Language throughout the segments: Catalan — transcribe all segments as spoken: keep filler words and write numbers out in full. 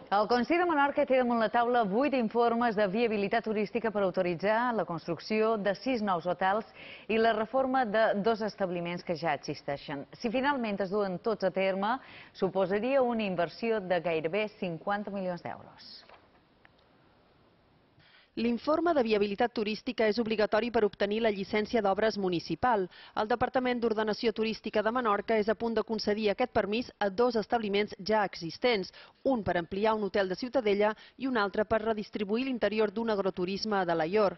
El Consell de Menorca té damunt la taula vuit informes de viabilitat turística per autoritzar la construcció de sis nous hotels i la reforma de dos establiments que ja existeixen. Si finalment es duen tots a terme, suposaria una inversió de gairebé cinquanta milions d'euros. L'informe de viabilitat turística és obligatori per obtenir la llicència d'obres municipal. El Departament d'Ordenació Turística de Menorca és a punt de concedir aquest permís a dos establiments ja existents, un per ampliar un hotel de Ciutadella i un altre per redistribuir l'interior d'un agroturisme a Alaior.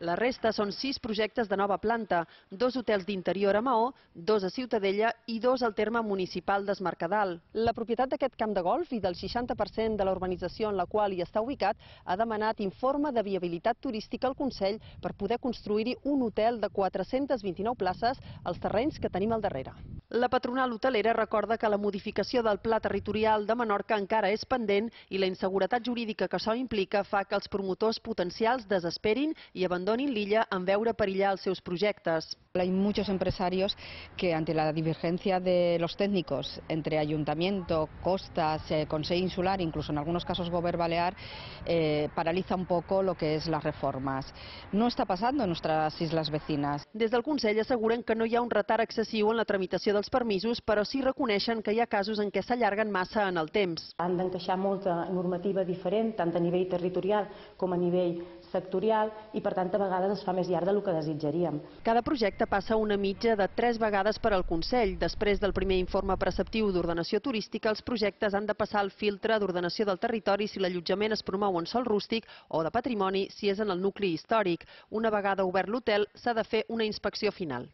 La resta són sis projectes de nova planta, dos hotels d'interior a Maó, dos a Ciutadella i dos al terme municipal d'Es Mercadal. La propietat d'aquest camp de golf i del seixanta per cent de la urbanització en la qual hi està ubicat ha demanat informe de viabilitat turística al Consell per poder construir-hi un hotel de quatre-centes vint-i-nou places als terrenys que tenim al darrere. La patronal hotelera recorda que la modificació del Pla Territorial de Menorca encara és pendent i la inseguretat jurídica que això implica fa que els promotors potencials desesperin i abandonin l'illa en veure perillar els seus projectes. Hay muchos empresarios que ante la divergencia de los técnicos entre ayuntamiento, costas, eh, Consell Insular, incluso en algunos casos Govern Balear, eh, paraliza un poco lo que es las reformas. No está pasando en nuestras islas vecinas. Des del Consell asseguren que no hi ha un retard excessiu en la tramitació dels permisos, però sí reconeixen que hi ha casos en què s'allarguen massa en el temps. Han d'encaixar molta normativa diferent, tant a nivell territorial com a nivell sectorial, i per tant a vegades es fa més llarg del que desitjaríem. Cada projecte passa una mitja de tres vegades per al Consell. Després del primer informe preceptiu d'ordenació turística, els projectes han de passar el filtre d'ordenació del territori si l'allotjament es promou en sòl rústic o de patrimoni si és en el nucli històric. Una vegada obert l'hotel, s'ha de fer una inspecció final.